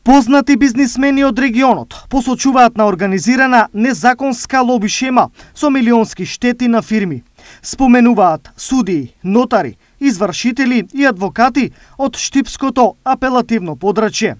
Познати бизнисмени од регионот посочуваат на организирана незаконска лоби шема со милионски штети на фирми. Споменуваат судии, нотари, извршители и адвокати од Штипското апелативно подрачје.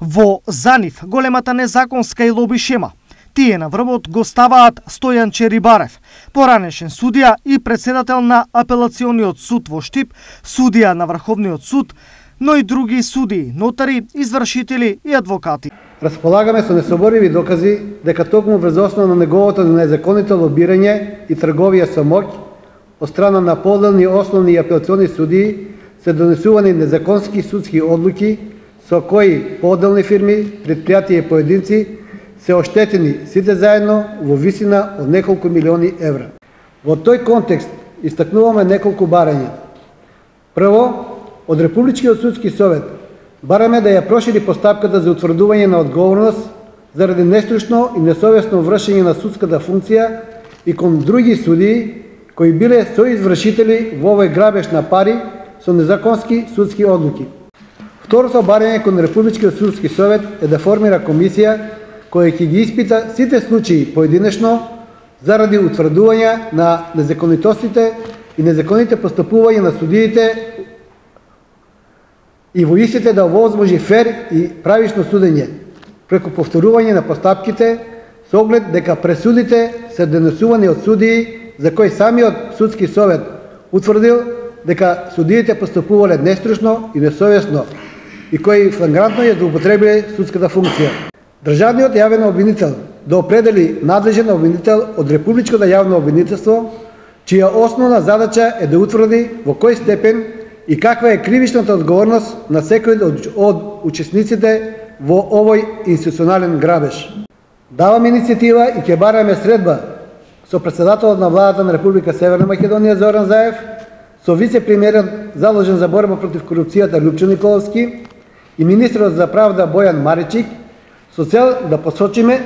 Во за нив големата незаконска и лоби шема тие на врвот го ставаат Стојанче Рибарев, поранешен судија и председател на апелациониот суд во Штип, судија на Врховниот суд, но и други судии, нотари, извршители и адвокати. Располагаме со несобориви докази дека токму врз основа на неговото незаконито лобирање и трговија со моќ од страна на поделни основни и апелациони судии се донесувани незаконски судски одлуки со кои поделни фирми, предпријатија и поединци се оштетени сите заедно во висина од неколку милиони евра. Во тој контекст истакнуваме неколку барања. Прво, од Републичкиот судски совет бараме да ја прошири постапката за утврдување на одговорност заради нестручно и несовесно вршење на судската функција и кон други судии кои биле соизвршители во овој грабеж на пари со незаконски судски одлуки. Второто барање кон Републичкиот судски совет е да формира комисија која ќе ги испита сите случаи поединечно заради утврдување на незаконитостите и незаконите постапувања на судиите и во истите да овозможи фер и правично судење, преку повторување на постапките, со оглед дека пресудите се донесувани од судии за кои самиот судски совет утврдил дека судиите постапувале нестручно и несовесно и кои флагрантно ја злоупотребиле судската функција. Државниот јавен обвинител да определи надлежен обвинител од Републичкото јавно обвинителство, чија основна задача е да утврди во кој степен и каква е кривичната одговорност на секој од учесниците во овој институционален грабеж. Даваме иницијатива и ќе бараме средба со председателот на владата на Република Северна Македонија Зоран Заев, со вице-премиерот заложен за борба против корупцијата Лјупчо Николовски и министерот за правда Бојан Маричик, со цел да посочиме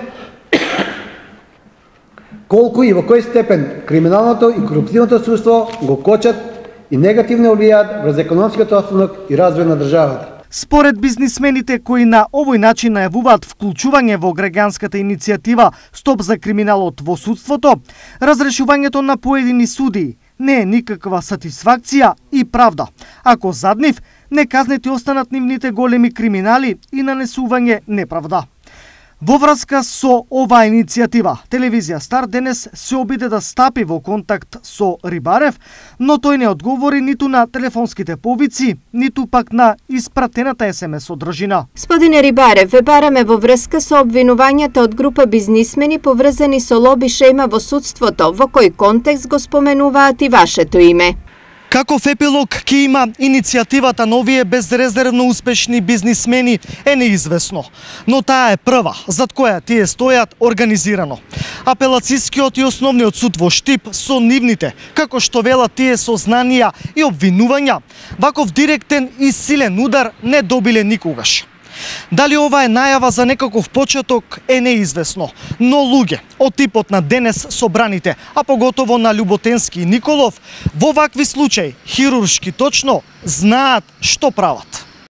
колку и во кој степен криминалното и корупционото судство го кочат и негативно влијаат врз економскиот останок и развој на државата. Според бизнисмените кои на овој начин најавуваат вклучување во граѓанската иницијатива Стоп за криминалот во судството, разрешувањето на поедини судии не е никаква сатисфакција и правда, ако зад нив неказнети останат нивните големи криминали и нанесување неправда. Во врска со оваа иницијатива, телевизија Стар денес се обиде да стапи во контакт со Рибарев, но тој не одговори ниту на телефонските повици, ниту пак на испратената СМС содржина. Господине Рибарев, ве бараме во врска со обвинувањата од група бизнисмени поврзани со лоби шема во судството, во кој контекст го споменуваат и вашето име. Каков епилог ќе има иницијативата на овие безрезервно успешни бизнисмени е неизвестно, но таа е прва зад која тие стојат организирано. Апелацискиот и основниот суд во Штип со нивните, како што велат тие сознанија и обвинувања, ваков директен и силен удар не добиле никогаш. Дали ова е најава за некаков почеток е неизвестно, но луѓе од типот на денес собраните, а поготово на Љуботенски и Николов, во вакви случаи, хируршки точно, знаат што прават.